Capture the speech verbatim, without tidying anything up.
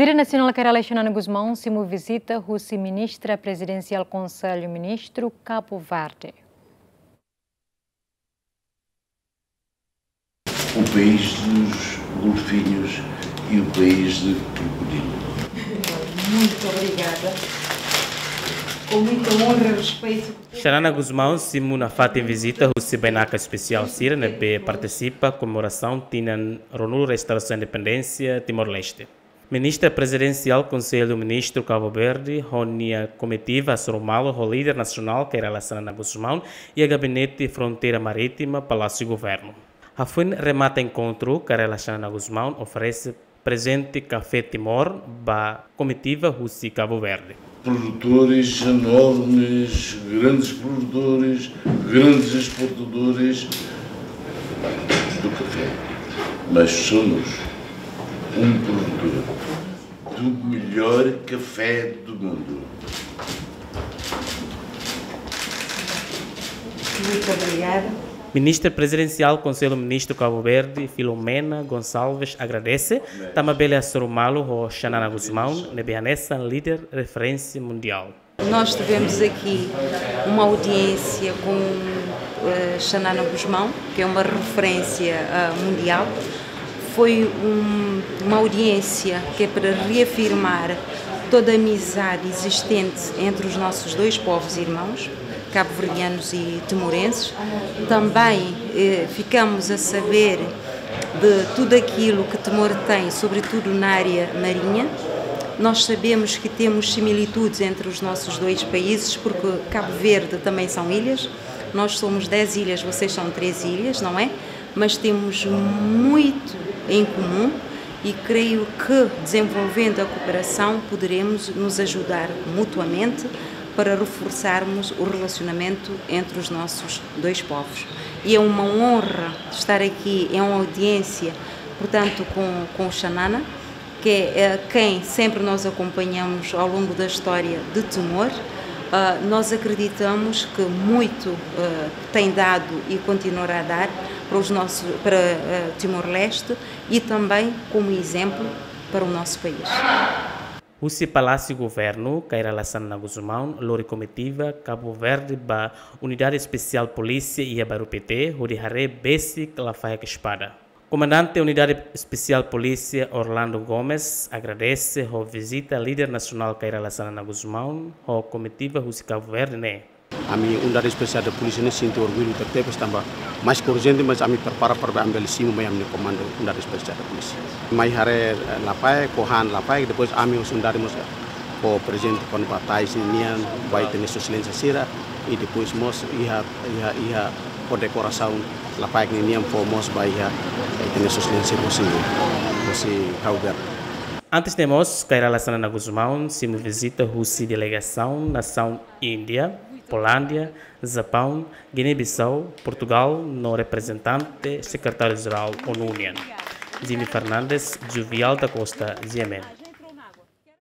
Líder nasionál Kay Rala Xanana Gusmão simu vizita husi Ministra Prezidensiál Konsellu Ministru Kabu Verdi. O país dos golfinhos e o país de crocodilo. Muito obrigada. Com muita honra e respeito. Xanana Gusmão simu nafatin vizita husi bainaka espesiál sira ne'ebé partisipa komemorasaun tinan ruanulu restaurasaun independénsia Timor-Leste. Ministra Prezidensiál Konsellu Ministru Kabu Verdi ho nia komitiva hasoru malu ho líder nasionál Kay Rala Xanana Gusmão iha Gabinete Fronteira Marítima, Palásiu Governu. Hafoin remata enkontru, Kay Rala Xanana Gusmão oferese prezente Kafé Timor ba komitiva husi Kabu Verdi. Produtores enormes, grandes produtores, grandes exportadores do café. Mas somos um produtor do melhor café do mundo. Muito obrigada. Ministra Prezidensiál Konsellu Ministru Kabu Verdi, Filomena Gonçalves, agradese tanba bele hasoru malu ho Xanana Gusmão ne'ebé hanesan líder referénsia mundiál. Nós tivemos aqui uma audiência com eh, Xanana Gusmão, que é uma referência ah, mundial. Foi um, uma audiência que é para reafirmar toda a amizade existente entre os nossos dois povos irmãos, cabo-verdianos e timorenses. Também eh, ficamos a saber de tudo aquilo que Timor tem, sobretudo na área marinha. Nós sabemos que temos similitudes entre os nossos dois países, porque Cabo Verde também são ilhas. Nós somos dez ilhas, vocês são treze ilhas, não é? Mas temos muito em comum e creio que desenvolvendo a cooperação poderemos nos ajudar mutuamente para reforçarmos o relacionamento entre os nossos dois povos. E é uma honra estar aqui, é uma audiência, portanto, com, com o Xanana, que é quem sempre nós acompanhamos ao longo da história de Timor. Ah, nós acreditamos que muito ah, tem dado e continuará a dar para, os nossos, para ah, Timor-Leste e também como exemplo para o nosso país. Husi Palásiu Governu, Kay Rala Xanana Gusmão lori komitiva Kabu Verdi ba Unidade Espesiál Polísia iha Bairru Pité, hodi haree besik lafaek espada. Komandante Unidade Espesiál Polísia Orlando Gomes agradese ho vizita líder nasionál Kay Rala Xanana Gusmão ho komitiva husi Kabu Verdi ne'e. Ami Unidade Espesiál de Polísia ne'e sente orgullu tebetebes tanba mais urjente, mas ami prepara para bele simu mai ami-nia komandu Unidade Espesiál de Polísia. Mai haree eh, lafaek, ho han lafaek, depois ami husi unidade mós fó prezente kona-ba tais ninian ba ita-nia Sua Exelénsia sira, i depois mós iha, iha, iha kondekorasaun lafaek ninian fó mós ba iha ita-nia Sua Exelénsia husi, husi Kabu Verdi. Antes ne'e mós, Kay Rala Xanana Gusmão simu vizita husi delegasaun nasaun Índia, Polónia, Japaun, Giné-Bisau, Portugál no reprezentante Sekretáriu-Jerál ONU nian, Jimmy Fernandes Juvial da Costa, G M N.